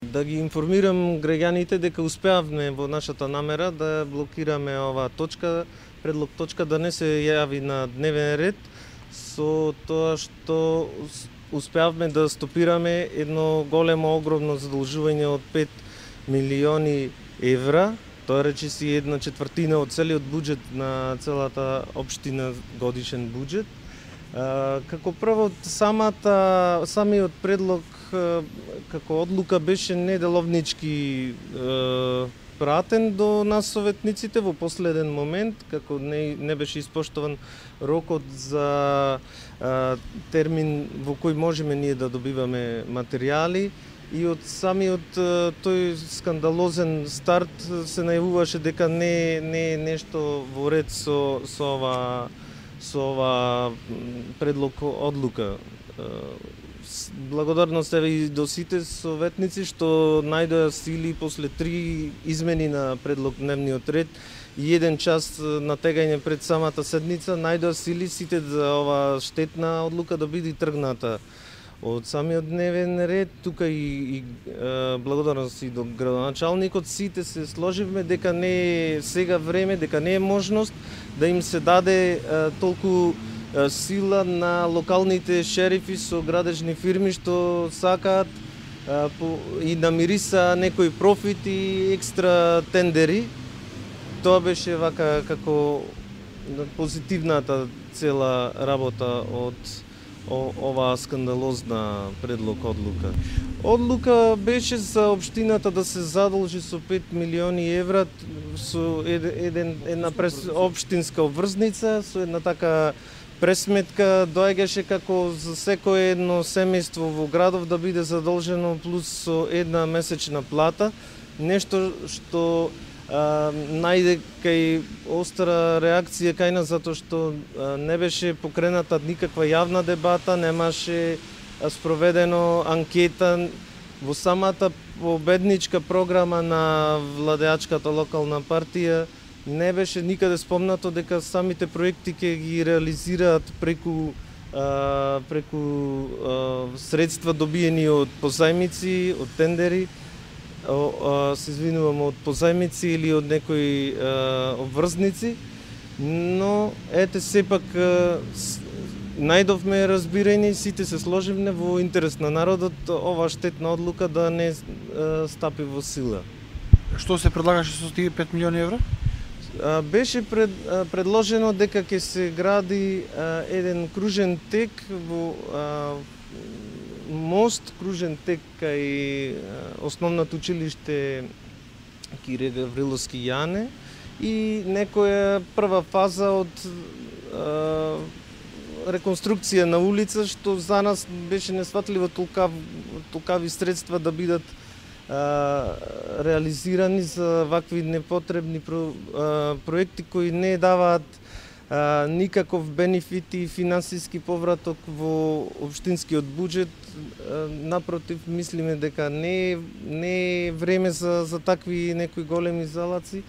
Да ги информирам граѓаните дека успеавме во нашата намера да блокираме оваа точка, предлог точка да не се јави на дневен ред, со тоа што успеавме да стопираме едно големо, огромно задолжување од 5 милиони евра. Тоа речиси 1/4 од целиот буџет на целата општина, годишен буџет. Како прво, самиот предлог како одлука беше неделовнички пратен до нас советниците во последен момент, како не беше испоштован рокот за термин во кој можеме ние да добиваме материјали, и од самиот тој скандалозен старт се најавуваше дека не е нешто во ред со ова предлог одлука. Благодарност еве и до сите советници што најдоа сили после 3 измени на предлог дневниот ред и 1 час натегање пред самата седница, најдоа сили сите за ова штетна одлука да биде тргната од самиот дневен ред. Тука и благодарност и до градоначалникот, сите се сложивме дека не е сега време, дека не е можност да им се даде толку сила на локалните шерифи со градежни фирми што сакаат и намириса некој профит и екстра тендери. Тоа беше вака како позитивната цела работа од оваа скандалозна предлог одлука. Одлука беше за општината да се задолжи со 5 милиони евра со една општинска обврзница, со една така пресметка доаѓаше како за секое едно семејство во градов да биде задолжено плюс со една месечна плата, нешто што најде кај остра реакција кај нас, затоа што не беше покрената никаква јавна дебата, немаше спроведено анкета во самата победничка програма на владеачката локална партија. Не беше никаде спомнато дека самите проекти ќе ги реализираат преку средства добиени од позајмици, од тендери, се извинувам, од позајмици или од некои обврзници, но ете сепак најдовме разбирање, сите се сложивме во интерес на народот оваа штетна одлука да не стапи во сила. Што се предлагаше со тие 5 милиони евра? Беше предложено дека ќе се гради еден кружен тек во мост, кружен тек кај основното училиште Кире Гавриловски Јане и некоја прва фаза од реконструкција на улица, што за нас беше несфатливо толкави средства да бидат реализирани за вакви непотребни проекти кои не даваат никаков бенефит и финансиски повраток во општинскиот буџет. Напротив, мислиме дека не е време за такви некои големи залаци.